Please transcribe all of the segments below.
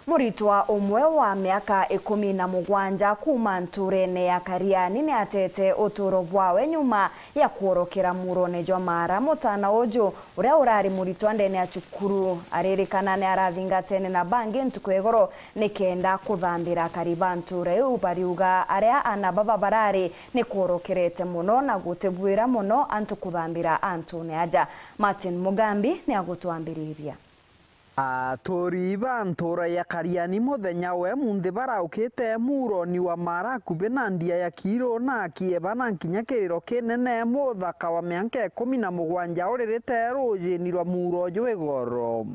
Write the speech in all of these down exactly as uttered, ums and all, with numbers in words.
Muritwa umwe wa miaka ikumi na mugwanja kuuma ntuurene ya Kariani ni atete utuuro bwawe nyuma ya kworokera muurone jwa Mara. Mutaana uju, uria urari muritwa ndene ya cukuru, aririkana ni arathingatene na bangi ntuku ya igoro nikenda kuthambira akari ba ntuura iu. Bariuga aria aana baba barari ni kworokerete mono na gutibwira mono antu kuthambira antuune aja. Martin Mugambi ni agutwambiriria. Aturi ba ntuura ya Kariani muthenya wa umunthi baraukite muuroni wa Mara akubi na ndia ya Kiiru na akieba na nkinya kiriro kinene muthaka wa mianka ikumi na mugwanja uririte ruujini rwa muuro jwi goro.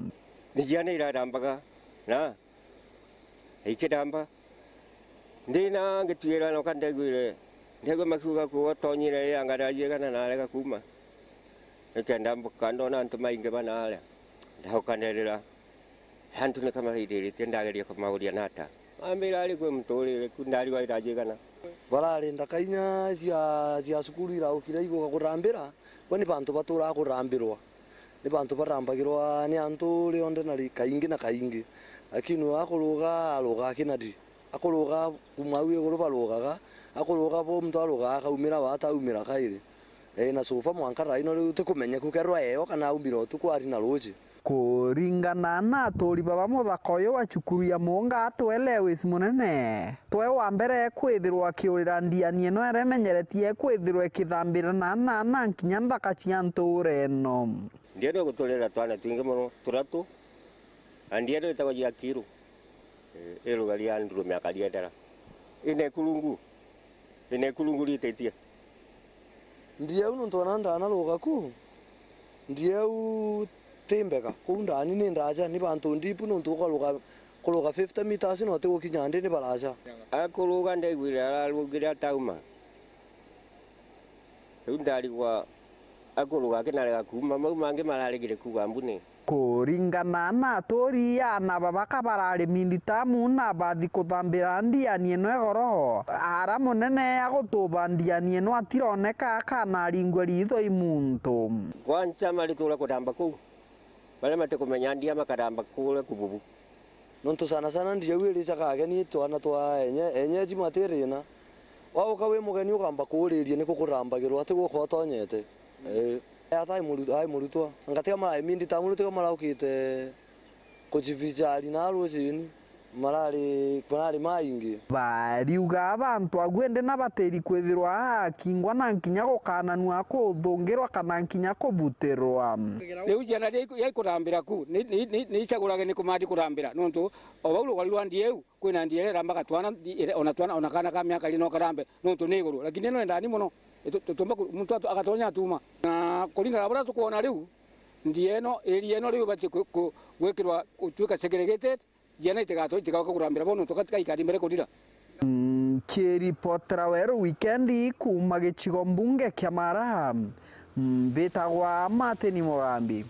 Ni ciana iradambaga na ikidamba. Ndina ngituira noka ndegwire, ndegwa makiuga kuwa tonyire ya ngara yegana na arega kuuma. Nikenda mbuka ndona antu maingi bana aria. Ndauka nderira. Antu ni kamaririte ndageria kumauria nata. Ambira ari kwi muturire ku ndari wa irajigana. Barari ndaka inya cia, cia cukuru iraukire iguka kurambira, bo ni bantu baturaga kurambirwa. Ni bantu barambagirwa ni antu rionthe na ri-, kaingi na kaingi. Lakini we akuruga, aruga akinadi. Akuruga kuma au iguru barugaga, akuruga bo muntu arugaga akaumira wa ataumira kairi. Ee, na sofa mwanka thaino riu tikumenyeku kerwa eyo kana aumira utuku ari na ruuji. Kuringana na aturi baba muthaka uyu wa cukuru ya Muunga atwe Lewis Munene, twe wa mbere kwithirwa akiurira ndiani ino iria imenyeretie kwithirwa ikithambira na nana nkinya nthaka cia ntuura ino. Ndiani iguturira twana twingi mono, turatu, na ndiani itagwa cia Kiiru. Eh, irugaria ndurume akariendera. Ina ikurungu. Ina ikurungu rititie. Ndieu nontu ona ndanaruga ku, ndieu ti mbega. Kuu ndani ni ndaja, ni bantu ndipu nontu ukaruga, kuruga fifty meters na utigukinya ndi ni baraja. Akuruga ndaiguire ararugire atauma. Riu ndarigwa akuruga akinarega kuuma, mau mangi mararegire kuuga mbuni. Kuringana na aturi, aana baba ka barari minditamu na bathi kuthambira ndiani ino igoro, ara munene agutuba ndiani ino atironeka kana aringwe riitho i muntu. Kwanza maritura kudamba kuu, baria matikumenya ndia makaramba kuria kububu. Nontu sana sana ndiau iricaga ageni twana twa enye-, enyeji matirina. Wauka wi mugeni ukamba kuuriria niku kurambagirwa, ati guka utonyete. Eh, ata ai muru-, ai murutwa. Anga tiga marai minditamu, tiga maraukite kujivinjari na rucini. Marari, marari maingi. Bariuga bantu agu indi na batiri kwithirwa akingwa na nkinya gukananua, kuthungirwa kana nkinya kubutirwa. Riu ciana ria iku-, ria ikurambira ku, ni, ni, ni, ni icagurage ni kumandi kurambira, nontu o bau rugori rwa ndieu, kwina ndia iria irambaga twana, ndi-, ire-, ona twana, ona kana ka miaka iri no karambe, nontu ni iguru. Lakini ino endani mono, itu-, tutumba ku-, muntu atu-, agatonya atuma. Na kuringana na buria tukwona riu, ndia ino, area ino riu ibati ku-, ku-, gwikirwa, gutuika segregated, ciana itigato-, itigauka kurambira bo, nontu gati-, gaikari mbere kurira. Nkiripotera Weru Wikendi kuuma gicigo mbunge kia Mara, mbitagwa Martin Mugambi.